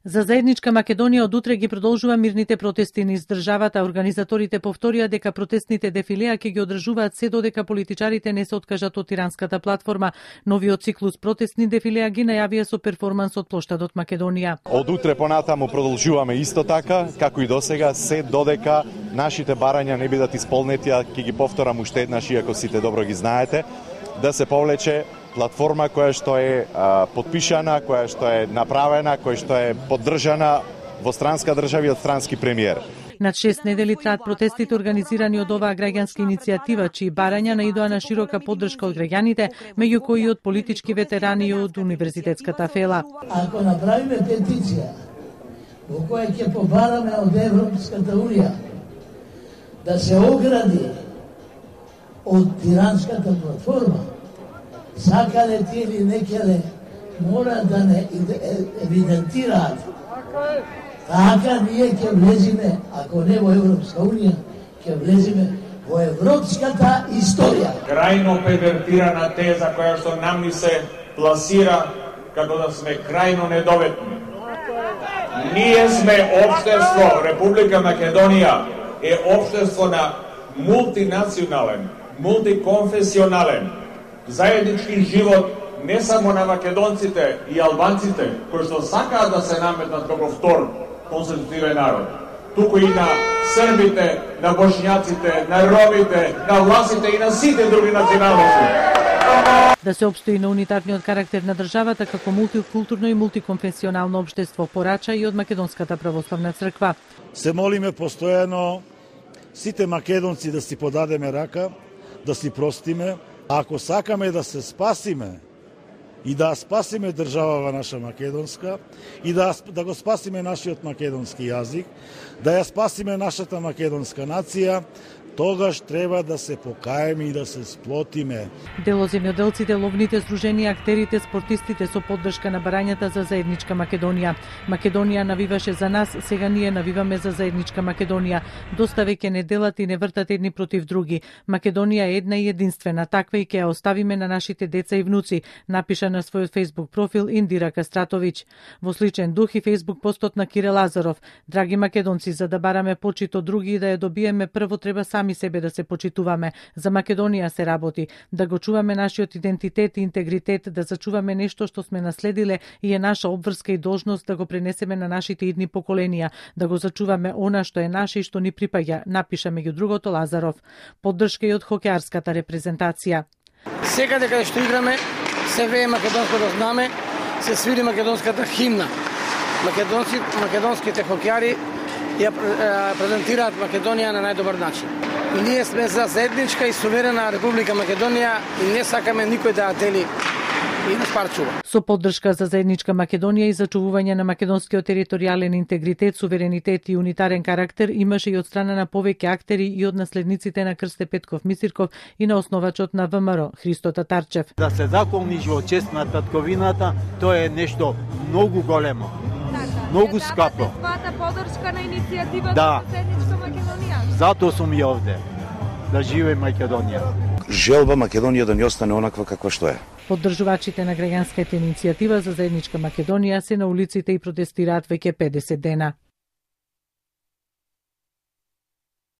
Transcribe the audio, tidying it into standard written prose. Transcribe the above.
За заедничка Македонија од утре ги продолжува мирните протести низ државата. Организаторите повторија дека протестните дефилеа ќе ги одржуваат се додека политичарите не се откажат од тиранската платформа. Новиот циклус протестни дефилеа ги најавија со перформанс од плоштадот Македонија. Од утре понатаму продолжуваме исто така, како и досега, се додека нашите барања не бидат исполнети, а ќе ги повторам уште еднаш, иако сите добро ги знаете, да се повлече платформа која што е подпишана, која што е направена, која што е поддржана во странска држава и од странски премиер. Над 6 недели траат протестите организирани од оваа граѓанска иницијатива, чии барања наидоа на широка поддршка од граѓаните, меѓу кои од политички ветерани и од универзитетската фела. Ако направиме петиција во која ќе побараме од Европската унија да се огради од тиранската платформа, сакале ти или некеле, мора да не евидентираат. Така ние ќе влезиме, ако не во Европска унија, ќе влезиме во европската историја. Крајно первертирана теза која што нам ни се пласира како да сме крајно недоветни. Ние сме општество, Република Македонија е општество на мултинационален, мултиконфесионален, заеднички живот не само на македонците и албанците, кои што сакаат да се наметнат како втор конститутивен народ, туку и на србите, на бошњаците, на ромите, на власите и на сите други националности. Да се опстои на унитарниот карактер на државата како мултикултурно и мултиконфесионално општество, порача и од Македонската православна црква. Се молиме постојано сите македонци да си подадеме рака, да си простиме. Ако сакаме да се спасиме и да спасиме државава наша македонска и да го спасиме нашиот македонски јазик, да ја спасиме нашата македонска нација, тогаш треба да се покаеме и да се сплотиме. Дел од земјоделците, ловните здруженија, актерите, спортистите со поддршка на барањата за заедничка Македонија. Македонија навиваше за нас, сега ние навиваме за заедничка Македонија. Доста веќе не делат и не вртат едни против други. Македонија е една и единствена, таква и ќе ја оставиме на нашите деца и внуци, напиша на својот Facebook профил Индира Кастратовиќ. Во сличен дух и Facebook постот на Кире Лазаров. Драги македонци, за да бараме почит од други и да ја добиеме, прво треба сами себе да се почитуваме. За Македонија се работи, да го чуваме нашиот идентитет и интегритет, да зачуваме нешто што сме наследиле и е наша обврска и должност да го пренесеме на нашите идни поколенија, да го зачуваме она што е наше и што ни припаѓа, напиша меѓу другото Лазаров. Поддршка и од хокеарската репрезентација. Секаде каде што играме, се вее македонското знаме, се свири македонската химна. Македонските хокеари ја презентираат Македонија на најдобар начин. Ние сме за заедничка и суверена Република Македонија и не сакаме никој да ја дели и да спарчува. Со поддршка за заедничка Македонија и зачувување на македонскиот територијален интегритет, суверенитет и унитарен карактер имаше и од страна на повеќе актери и од наследниците на Крсте Петков Мисирков и на основачот на ВМРО Христо Татарчев. Да се заколниш во чест на татковината, тоа е нешто многу големо. Многу скапо. Свата поддршка на иницијативата за заедничка Македонија. Затоа сум и овде. Да живее Македонија. Желба Македонија да не остане онаква каква што е. Поддржувачите на граѓанската иницијатива за заедничка Македонија се на улиците и протестираат веќе 50 дена.